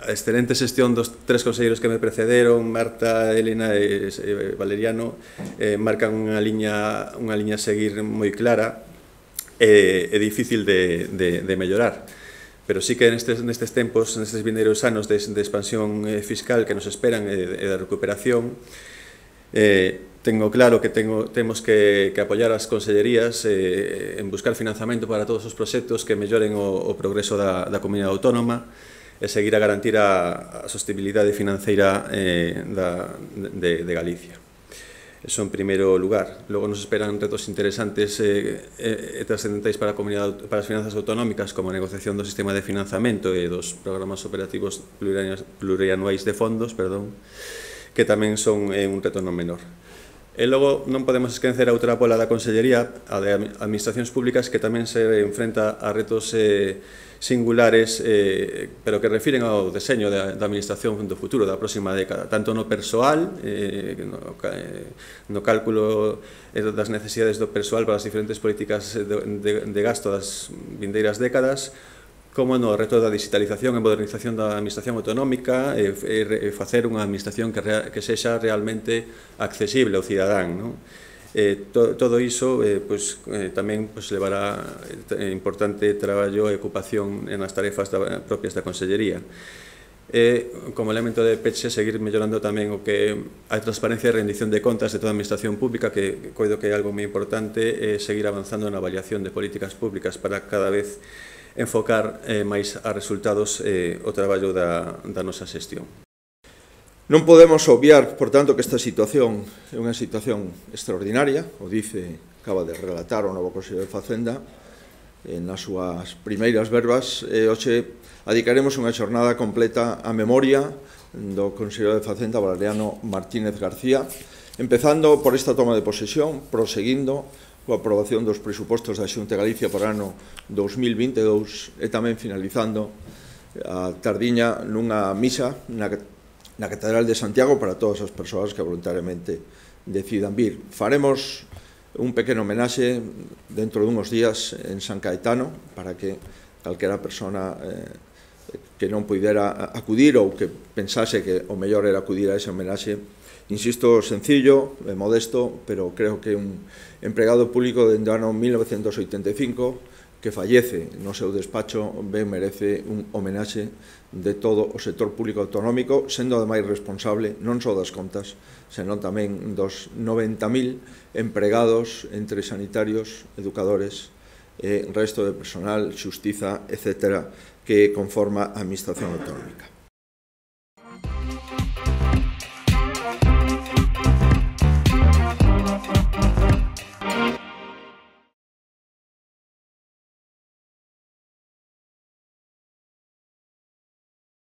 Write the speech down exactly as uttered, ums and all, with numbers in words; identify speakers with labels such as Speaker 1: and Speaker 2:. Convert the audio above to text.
Speaker 1: a excelente xestión dos tres conselleiros que me precederon, Marta, Elena e Valeriano, eh, marcan unha liña, unha liña a seguir moi clara e, e difícil de, de, de mellorar. Pero sí que nestes, nestes tempos, nestes vindeiros anos de, de expansión fiscal que nos esperan e de, de recuperación, eh, tengo claro que tengo, temos que, que apoiar as consellerías eh, en buscar financiamento para todos os proxectos que melloren o, o progreso da, da comunidade autónoma e seguir a garantir a, a sostenibilidade financeira eh, da, de, de Galicia. Eso en primeiro lugar. Logo nos esperan retos interesantes e eh, eh, trascendentais para a comunidade, para as finanzas autonómicas, como a negociación do sistema de financiamento e dos programas operativos plurianuais de fondos, perdón, que tamén son eh, un reto non menor. E logo non podemos esquecer a outra pola da Consellería, a de Administracións Públicas, que tamén se enfrenta a retos eh, singulares, eh, pero que refiren ao deseño da, da administración do futuro, da próxima década, tanto no persoal, eh, no, eh, no cálculo das necesidades do persoal para as diferentes políticas de, de, de gasto das vindeiras décadas, como no reto da digitalización e modernización da administración autonómica e, e, e facer unha administración que, rea, que sexa realmente accesible ao cidadán, non? Eh, to, todo iso eh, pues, eh, tamén pues, levará eh, importante traballo e ocupación nas tarefas da, propias da Consellería. E, como elemento de peche, seguir mellorando tamén o que a transparencia e rendición de contas de toda a administración pública, que coido que é algo moi importante, e seguir avanzando na avaliación de políticas públicas para cada vez enfocar eh, máis a resultados eh, o traballo da, da nosa xestión.
Speaker 2: Non podemos obviar, por tanto, que esta situación é unha situación extraordinaria, o dice, acaba de relatar o novo Conselleiro de Facenda, eh, nas súas primeiras verbas, e hoxe adicaremos unha xornada completa á memoria do Conselleiro de Facenda, Valeriano Martínez García, empezando por esta toma de posesión, proseguindo coa aprobación dos presupostos da Xunta de Galicia para o ano dous mil vinte e dous e tamén finalizando a tardiña nunha misa na, na Catedral de Santiago para todas as persoas que voluntariamente decidan vir. Faremos un pequeno homenaxe dentro dunhos días en San Caetano para que calquera persona eh, que non pudera acudir ou que pensase que o mellor era acudir a ese homenaxe, insisto, sencillo, modesto, pero creo que un empregado público dende o ano mil novecentos oitenta e cinco que fallece no seu despacho ben merece un homenaxe de todo o sector público autonómico, sendo ademais responsable non só das contas, senón tamén dos noventa mil empregados entre sanitarios, educadores, e resto de personal, xustiza, etcétera, que conforma a administración autonómica.